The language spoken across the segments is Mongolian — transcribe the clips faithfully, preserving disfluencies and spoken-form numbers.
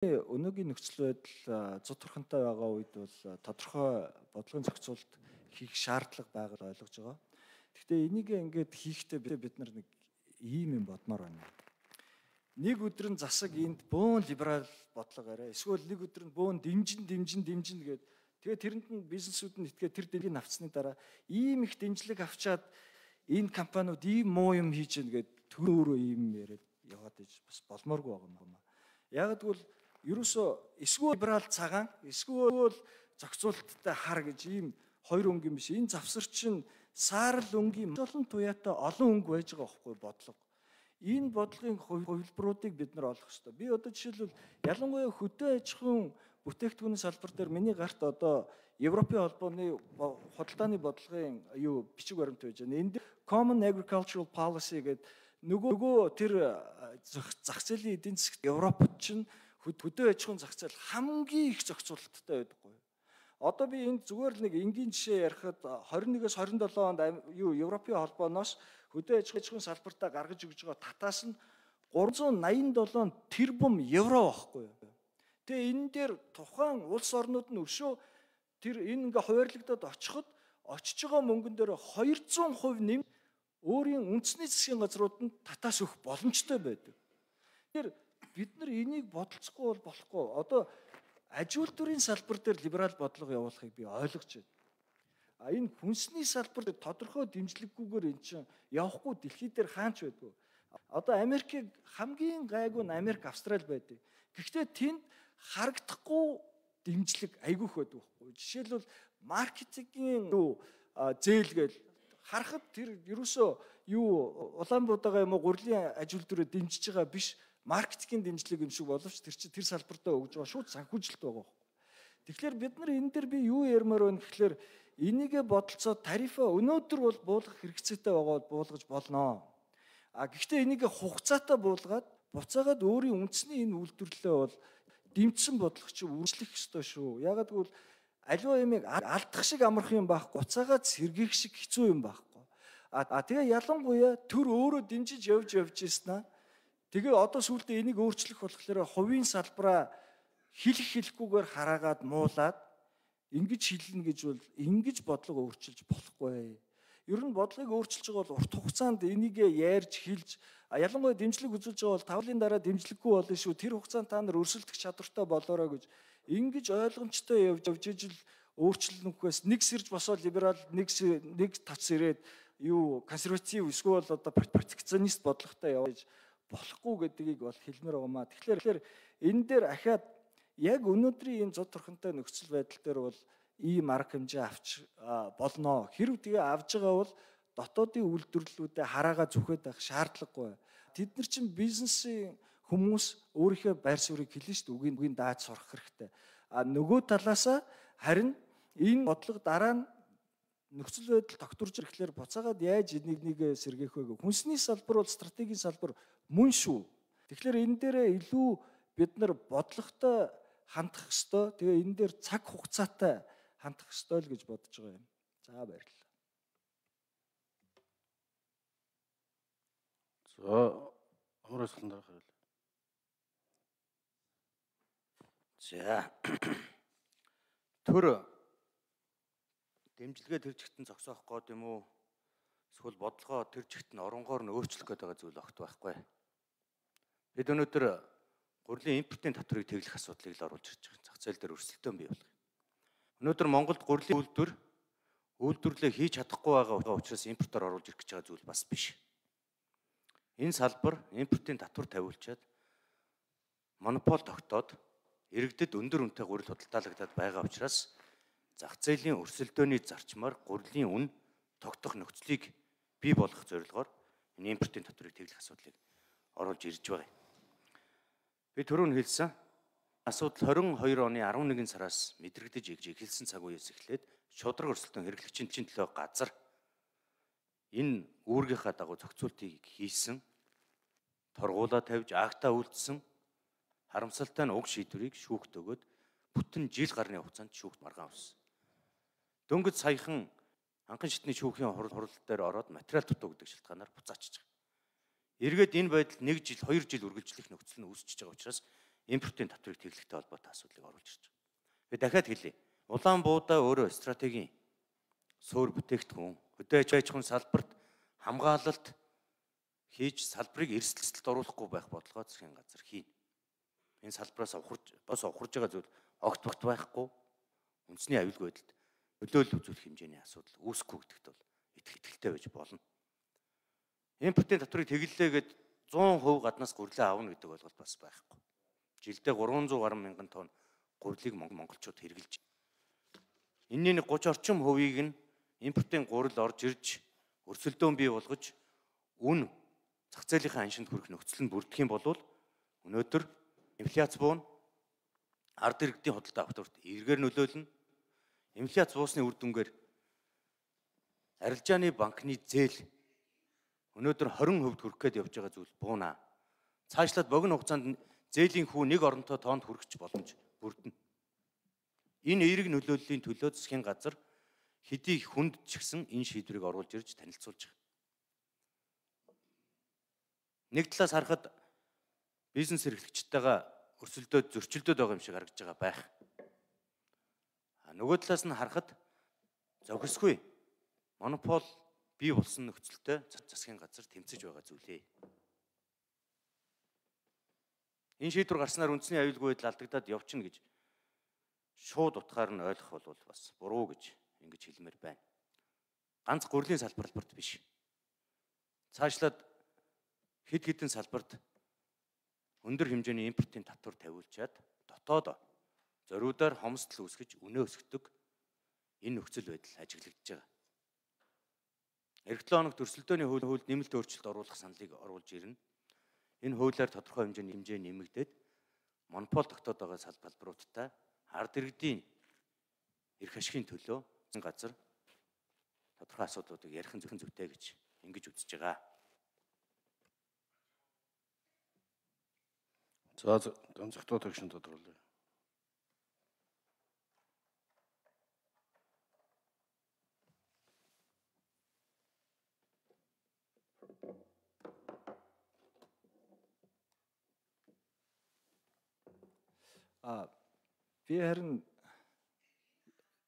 Өнөөгийн нөхцөл байдал зодторхонтой байгаа үед бол тодорхой бодлогын зохицуулалт хийх шаардлага байгааг ойлгож байгаа. Гэхдээ энийг ингээд хийхдээ бид нар нэг ийм юм бодмоор байна. Нэг өдөр нь засаг энд бөөн либерал бодлого арай. Эсвэл нэг өдөр нь бөөн дэмжин дэмжин дэмжин гээд тэгээ тэрэнд нь бизнесүүд нь итгээ тэр дэлхийн авцсны дараа ийм их дэмжлэг авчаад энэ компаниуд ийм муу юм хийж гэнэ гээд төр өөрөө ийм яриад яваад иж бас болмооргүй байгаа юм байна. Яг тэгвэл ерөөсөө эсвэл либерал цагаан эсвэл зохицуулалттай хар гэж ийм хоёр өнгө юм биш. Энэ завсар чинь саарл өнгийн олон туяатай олон өнгө байж байгаа байхгүй бодлого. Энэ бодлогын хувилбаруудыг бид нар олох хэрэгтэй. Би одоо жишээлбэл ялангуяа хөдөө аж ахуйн бүтээгдэхүүний салбар дээр миний гарт одоо Европын холбооны худалдааны бодлогын юу бичиг баримт байж байна. Энд Common Agricultural Policy гэдэг нөгөө тэр зах зээлийн эдийн засагт Европод чинь хөдөө аж ахуйн зах зээл хамгийн их зохицуулалттай байдаггүй. Одоо би энд зүгээр л нэг энгийн жишээ ярихад двадцать нэгээс двадцать септ онд юу Европын холбооноос хөдөө аж ахуйн салбартаа гаргаж өгж байгаа татаас нь гуравзуун наян долоо тэрбум евро байхгүй юу. Тэгээ энэ дээр тухайн улс орнууд нь өшөө тэр энэ ингээ хуваарлагдаад очиход очиж байгаа мөнгөн дээр двести процент нэм өөрийн үндэсний засгийн газрууд нь татаас өгөх боломжтой байдаг. Тэгэхээр бид нар энийг бодолцохгүй бол болохгүй. Одоо аж үйлдвэрийн салбар дээр либерал бодлого явуулахыг би ойлгож байна. А энэ хүнсний салбар дээр тодорхой дэмжлэггүйгээр эн чинь явахгүй дэлхий дээр хаач байдгүй. Одоо Америкийг хамгийн гайгүй нь Америк, Австрали байдаг. Гэхдээ тэнд харагдахгүй дэмжлэг айгүйх байдаг байхгүй. Жишээлбэл маркетингийн юу зээл гээл харахад тэр ерөөсөө юу Улаанбаатараа юм уу гурлийн аж үйлдвэрээ дэмжиж байгаа биш. Маркетингийн дэмжлэг юм шиг боловч тэр чинь тэр салбартаа өгж байгаа шууд санхүүжилт байгаа. Тэгэхээр бид нар энэ дээр би юу ярмаар байна гэхэлэр энийгээ бодолцоо тарифа өнөөдөр бол буулгах хэрэгцээтэй байгаа бол буулгаж болно. А гэхдээ энийгээ хугацаатай буулгаад буцаагаад өөрийн үндэсний энэ үйлдвэрлэлээ бол дэмжсэн бодлого чи үржлэх ёстой шүү. Ягаад гэвэл аливаа юмыг алдах шиг амарх юм байхгүй, буцаагаад сэргийх шиг хэцүү юм байхгүй. А тэгээ ялангуяа төр өөрөө дэмжиж явж явж ийснаа тэгээ одоо сүүлдээ энийг өөрчлөх болохоор хувийн салбараа хэлэх хэлэхгүйгээр хараагаад муулаад ингэж хэлнэ гэж бол ингэж бодлого өөрчилж болохгүй. Ер нь бодлогыг өөрчилж байгаа бол урт хугацаанд энийг ярьж хэлж ялангуяа дэмжлэг үзүүлж байгаа бол тавлын дараа дэмжлэггүй болно шүү. Тэр хугацаанд та нар өрсөлдөх чадвартай болоорой гэж ингэж ойлгомжтой явж явж ижил өөрчлөлнөхөөс нэг сэрж босоо либерал нэг нэг тац ирээд юу консерватив эсвэл одоо протекционист бодлоготой явж болохгүй гэдгийг бол хэлмээр байгаамаа. Тэгэхээр энэ дээр ахаад яг өнөөдрийн энэ зод торхонтой нөхцөл байдал дээр бол ийм арга хэмжээ авч болно. Хэрв тэгээ авж байгаа бол дотоодын үйлдвэрлэлүүдэд хараагаа зүхэд байх шаардлагагүй. Тэд нар чинь бизнесийн хүмүүс өөрийнхөө байр суурийг хэлнэ шүү дээ. Үгийн үгийн дааж сурах хэрэгтэй. А нөгөө талаасаа харин энэ бодлого дараа нь нөхцөл байдал тогтворж ирэхлээр буцаагаад яаж энийг нэг сэргээх вэ? Хүнсний салбар бол стратегийн салбар мөн шүү. Тэгэхээр энэ дээрээ илүү бид нар бодлоготой хандах ёстой. Тэгээ энэ дээр цаг хугацаатай хандах ёстой л гэж бодож байгаа юм. За баярлалаа. За ямар асуулт дараа хариулъя. За төр дэмжлэгээ тэр чигтэн зогсоох гээд юм уу? Эсвэл бодлогоо тэр чигтэн оронгоор нь өөрчлөх гээд байгаа зүйл огт байхгүй. Бид өнөөдөр гурлийн импортын татварыг тэглэх асуудлыг л оруулж ирж байгаа. Зах зээл дээр өрсөлдөөн бий болгох. Өнөөдөр Монголд гурлийн үйлдвэр үйлдвэрлэлээ хийж чадахгүй байгаа учраас импортоор оруулж ирэх гэж байгаа зүйл бас биш. Энэ салбар импортын татвар тавиулчаад монопол тогтоод иргэдэд өндөр үнэтэй гурил худалдаалагдаад байгаа учраас зах зээлийн өрсөлдөөний зарчмаар гурлийн үн тогтох нөхцөлийг бий болгох зорилгоор энэ импортын татварыг тэглэх асуудлыг оруулж ирж байгаа. Би түрүүн хэлсэн асуудал двадцать two оны eleven сараас мэдрэгдэж игж эхэлсэн цаг үеэс эхлээд шудраг өрсөлдөөн хэрэглэгчийн төлөө газар энэ үүргийнхаа дагуу зохицуултыг хийсэн, торгуулаа тавьж актаа үлдсэн харамсалтай нь уг шийдвэрийг шүүхт өгөөд бүтэн жил гарны хугацаанд шүүхт маргаан авсан. Дөнгөж саяхан анхан шатны шүүхийн хурал дээр ороод материал дутуу гэдэг шалтгаанаар буцаачиж байгаа. Эргээд энэ байдал нэг жил, хоёр жил үргэлжлэх нөхцөл нь үүсчихэж байгаа учраас импортын татварыг тэглэхтэй холбоотой асуудлыг оруулж ирж байгаа. Би дахиад хэлье. Улаан буудаа өөрөө стратегийн суур бүтээгдэхүүн, хөдөө аж ахуйн салбарт хамгаалалт хийж салбарыг эрсдэлд оруулахгүй байх бодлогоо засгийн газар хийнэ. Энэ салбараас ухарж бас ухарж байгаа зүйл огт огт байхгүй үндэсний аюулгүй байдалд нөлөөлөл үзүүлэх хэмжээний асуудал үүсэхгүй гэдэгт бол итгэлтэй байж болно. Импортын татварыг тэглэлээгээд зуун хувь гаднаас гурилаа авна гэдэг ойлголт бас байхгүй. Жилдээ гурван зуун гаруй мянган тонн гурилыг монголчууд хэрэглэж. Энэний нэг гурван орчим хувийг нь импортын гурил орж ирж өрсөлдөөн бий болгож үн зах зээлийнхаа аншинд хүрэх нөхцөл нь бүрдэх юм бол өнөөдөр инфляц буун ард иргэдийн худалдаа авалт эргээр нөлөөлнө. Инфляц буусны үр дүнгээр арилжааны банкны зээл өнөөдөр хорин хувьд хүрэх гээд явж байгаа зүйл буунаа. Цаашлаад богино хугацаанд зээлийн хүү нэг оронтой тоонд хүрэх боломж бүрдэнэ. Энэ эерэг нөлөөллийн төлөө засгийн газар хэдий хүнд ч гэсэн энэ шийдвэрийг оруулж ирж танилцуулж байгаа. Нэг талаас харахад бизнес эрхлэгчтэйгээ өрсөлдөөд зөрчилдөд байгаа юм шиг харагдж байгаа байх. А нөгөө талаас нь харахад зохисгүй монопол бий болсон нөхцөлтэй засгийн газар тэмцэж байгаа зүйлээ. Энэ шийдвэр гарснаар үндэсний аюулгүй байдал алдагдаад явчихна гэж шууд утгаар нь ойлгох бол бас буруу гэж ингэж хэлмээр байна. Ганц гурлийн салбарт биш. Цаашлаад хэд хэдэн салбарт өндөр хэмжээний импортын татвар тавиулчаад дотоод зориудаар хомсдол үүсгэж үнэ өсгдөг энэ нөхцөл байдал ажиглагдж байгаа. Эх долоо хоногт өрсөлдөөний хуулинд нэмэлт өөрчлөлт оруулах саналыг оруулж ирнэ. Энэ хуулиар тодорхой хэмжээний хэмжээ нэмэгдээд монопол тогтоод байгаа салбаруудтай ард иргэдийн эрх ашигын төлөө газар тодорхой асуудлуудыг ярих нь зөвхөн зүйтэй гэж ингэж үзэж байгаа. За онцгой төгшин тодруулъя. А би харин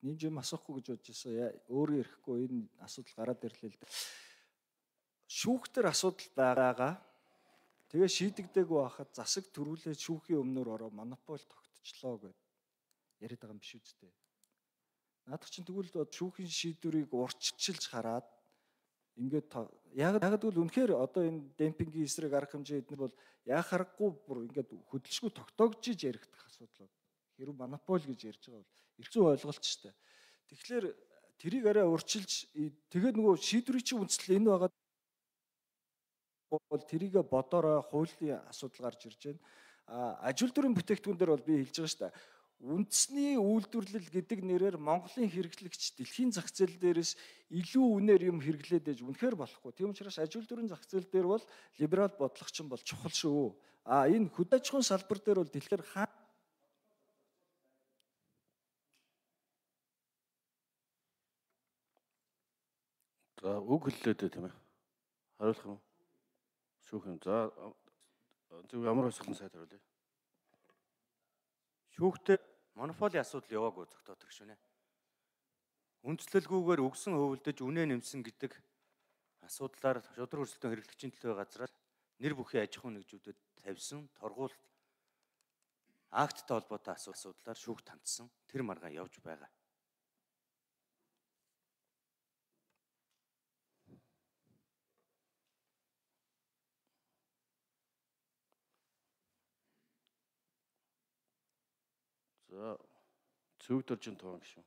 нэг юм асуухгүй гэж бодож байсан. Өөрөө ирэхгүй энэ асуудал гараад ирлээ л дээ. Шүүхтэр асуудал байгаа. Тэгээ шийдэгдээгүй байхад засаг төрүүлээд шүүхийн өмнөр ороо монопол тогтчлоо гэд яриад байгаа юм биш үстэй. Наадах чинь тэгвэл шүүхийн шийдвэрийг урьдчилж хараад ингээд яг яг тэгвэл үнэхээр одоо энэ демпингийн эсрэг арга хэмжээ эднэр бол яг харахгүй бүр ингээд хөдөлшгүй тогтоогжиж яригдах асуудал. Хэрвээ монопол гэж ярьж байгаа бол эргэн ойлголт ч дээ. Тэгэхээр тэрийг арай урьдчилж тэгээд нөгөө шийдвэрийн чинь үндэслэл энэ байгаа бол тэрийг бодорой хуулийн асуудал гарч ирж байна. А ажил дүрийн бүтээгдэхүүн дээр бол би хэлж байгаа шүү дээ. Үндэсний үйлдвэрлэл гэдэг нэрээр Монголын хэрэглэгч дэлхийн зах зээл дээрээс илүү үнээр юм хэрэглээд ээж үнэхээр болохгүй. Тийм учраас ажил дүрийн зах зээл дээр бол либерал бодлого чинь бол чухал шүү. А энэ хөдөө аж ахуйн салбар дээр бол дэлхийд хаа За үг хэллээ дээ тийм ээ. Хариулах юм уу? Шүүх юм. За зөв ямар асуултанд сайд хариулъя. Шүүхтээ монополийн асуудал яваагүй зохиотох шүнэ. Үндслэлгүйгээр өгсөн хөвөлдөж үнэ нэмсэн гэдэг асуудлаар шудраг өрсөлдөөн хэрэглэгчийн төлөө газраас нэр бүхий аж ахуйн нэгжүүдэд тавьсан торгуулт акттай холбоотой асуудлаар шүүхт хандсан тэр маргаан явж байгаа. За цөвдөржин тоон гişүн.